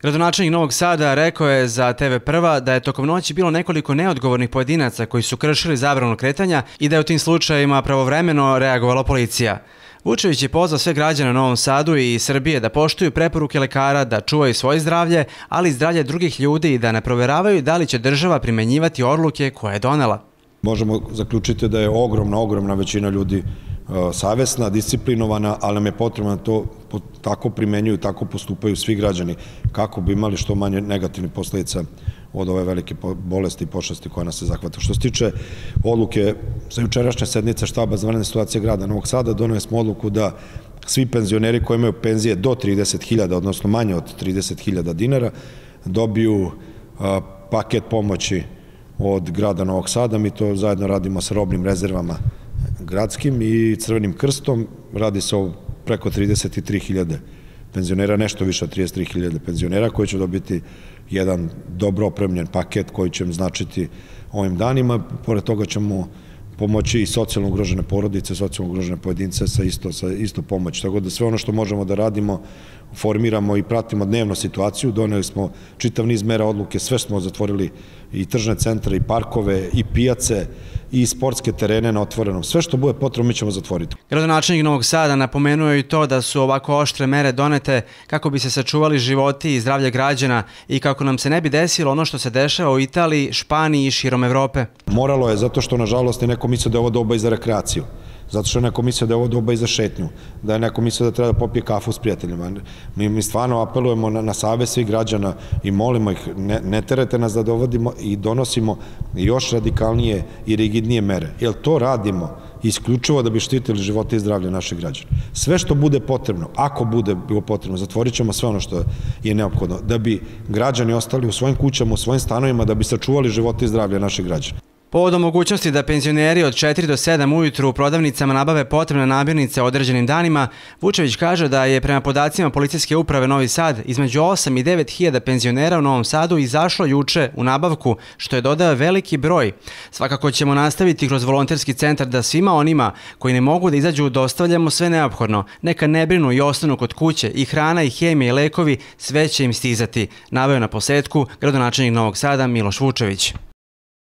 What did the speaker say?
Gradonačelnik Novog Sada rekao je za TV Prva da je tokom noći bilo nekoliko neodgovornih pojedinaca koji su kršili zabranu kretanja i da je u tim slučajevima pravovremeno reagovala policija. Vučević je pozvao sve građane u Novom Sadu i Srbije da poštuju preporuke lekara, da čuvaju svoje zdravlje, ali i zdravlje drugih ljudi i da ne proveravaju da li će država primenjivati odluke koje je donela. Možemo zaključiti da je ogromna većina ljudi savesna, disciplinovana, ali nam je potrebno da to tako primenjuju, tako postupaju svi građani kako bi imali što manje negativnih posledica od ove velike bolesti i pošasti koja nas se zahvata. Što se tiče odluke sa jučerašnje sednice štaba za vanredne situacije grada Novog Sada, doneli smo odluku da svi penzioneri koji imaju penzije do 30.000, odnosno manje od 30.000 dinara, dobiju paket pomoći od grada Novog Sada. Mi to zajedno radimo sa robnim rezervama gradskim i Crvenim krstom. Radi se o preko 33.000 penzionera, nešto više od 33.000 penzionera koji će dobiti jedan dobro opremljen paket koji će im značiti ovim danima. Pored toga ćemo pomoći i socijalno ugrožene porodice, socijalno ugrožene pojedince sa isto pomoć. Tako da sve ono što možemo da radimo, formiramo i pratimo dnevno situaciju. Doneli smo čitav niz mera odluke, sve smo zatvorili i tržne centre, i parkove, i pijace, i sportske terene na otvorenom. Sve što bude potrebno mi ćemo zatvoriti. Gradonačelnik Novog Sada napomenuo je i to da su ovako oštre mere donete kako bi se sačuvali životi i zdravlje građana i kako nam se ne bi desilo ono što se dešava u Italiji, Španiji i širom Evrope. Moralo je zato što nažalost je neko mislio da je ovo doba i za rekreaciju. Zato što je neko mislio da je ovo doba i za šetnju, da je neko mislio da treba da popije kafu s prijateljima. Mi stvarno apelujemo na savest svih građana i molimo ih, ne terete nas da dovodimo i donosimo još radikalnije i rigidnije mere. Jer to radimo isključivo da bi štitili živote i zdravlje naših građana. Sve što bude potrebno, ako bude bilo potrebno, zatvorit ćemo sve ono što je neophodno, da bi građani ostali u svojim kućama, u svojim stanovima, da bi sačuvali živote i zdravlje naših građana. Povodom mogućnosti da penzioneri od 4 do 7 ujutru u prodavnicama nabave potrebne namirnice određenim danima, Vučević kaže da je prema podacima Policijske uprave Novi Sad između 8 i 9 hiljada penzionera u Novom Sadu izašlo juče u nabavku, što je dodao veliki broj. Svakako ćemo nastaviti kroz volonterski centar da svima onima koji ne mogu da izađu dostavljamo sve neophodno. Neka ne brinu i ostanu kod kuće, i hrana i hemija i lekovi, sve će im stizati, naveo na posletku gradonačelnik Novog Sada Miloš Vučević.